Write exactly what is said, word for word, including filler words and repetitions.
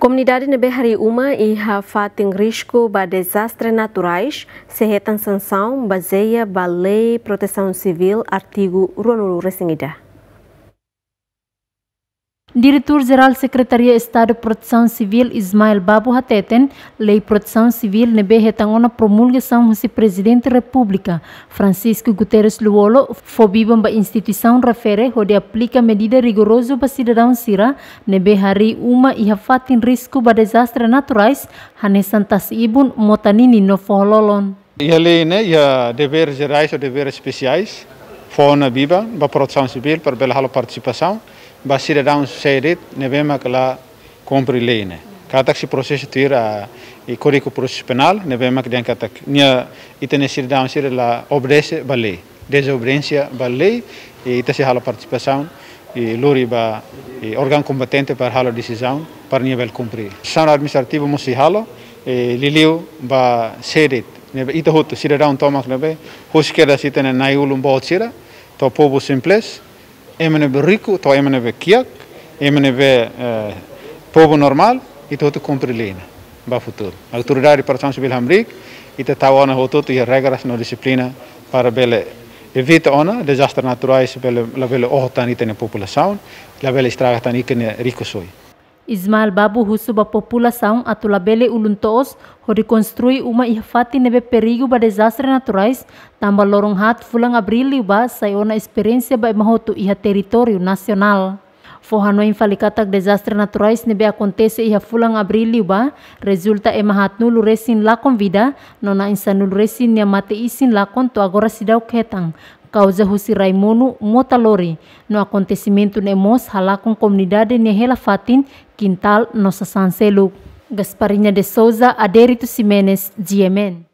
Komunidade ne'ebé harii uma iha fatin risku ba dezastre naturais sei hetan sansaun bazeia ba Lei Protesaun Sivíl, artigu ruanulu-resin-ida. Diretór Jerál Sekretaria Estadu Protesaun Sivíl, Ismael Babu, hateten, Lei Protesaun Sivíl ne'ebé hetan ona promulgasaun husi Prezidente Repúblika, Francisco Guterres Lú-Olo, fó biban ba instituisaun refere hodi aplika medida rigorozu ba sidadaun sira ne'ebé harii uma iha fatin risku ba dezastre naturais, hanesan tasi-ibun, mota-ninin no foho-lolon. Iha lei ne'e iha deveres jerais ou deveres espesiais, fó ona biban ba Protesaun Sivíl para bele halo partisipasaun ba sidadaun sé de'it ne'ebé mak la kumpre lei ne'e. Katak sei prosesa tuir Kódigu Prosesu Penál, ne'ebé mak dehan katak nia, ita-nia sidadaun sira la obedese ba lei, dezobediénsia ba lei, i ita sei halo partisipasaun, i lori ba, i órgaun kompetente para halo desizaun para nia bele kumpre. Sansaun administrativa mós sei halo, i liuliu ba sé de'it ne'ebé, ita hotu sidadaun tomak ne'ebé husik kedas ita-nia na'i-ulun boot sira, to'o povu simples, ema ne'ebé riku to'o ema ne'ebé kiak, ema ne'ebé, eh, povu normál, ita hotu kumpre lei ne'e ba futuru. Autoridade Protesaun Sivíl hamriik, ita tau ona hotu-hotu iha regras no dixiplina para bele evita ona dezastre naturais, bele, labele oho tan ita-nia populasaun, labele estraga tan ita-nia rikusoin. Ismael Babu husu ba populasaun atu labele ulun-toos hodi konstrui uma iha fatin ne'ebé perigu ba dezastre naturais, tanba loron haat fulan Abríl liubá sai ona esperiénsia ba ema hotu iha territóriu nasionál. Fó hanoin fali katak dezastre naturais ne'ebé akontese iha fulan Abríl liubá rezulta ema haatnulu-resin-lakon vida, no na'in-sanulu-resin nia mate-isin lakon to'o agora seidauk hetan, kauza husi rai monu, mota lori, no akontesimentu ne'e mós halakon komunidade nia hela fatin, kintál no sasán seluk. Gasparinha de Souza, Adérito Ximenes, G M N.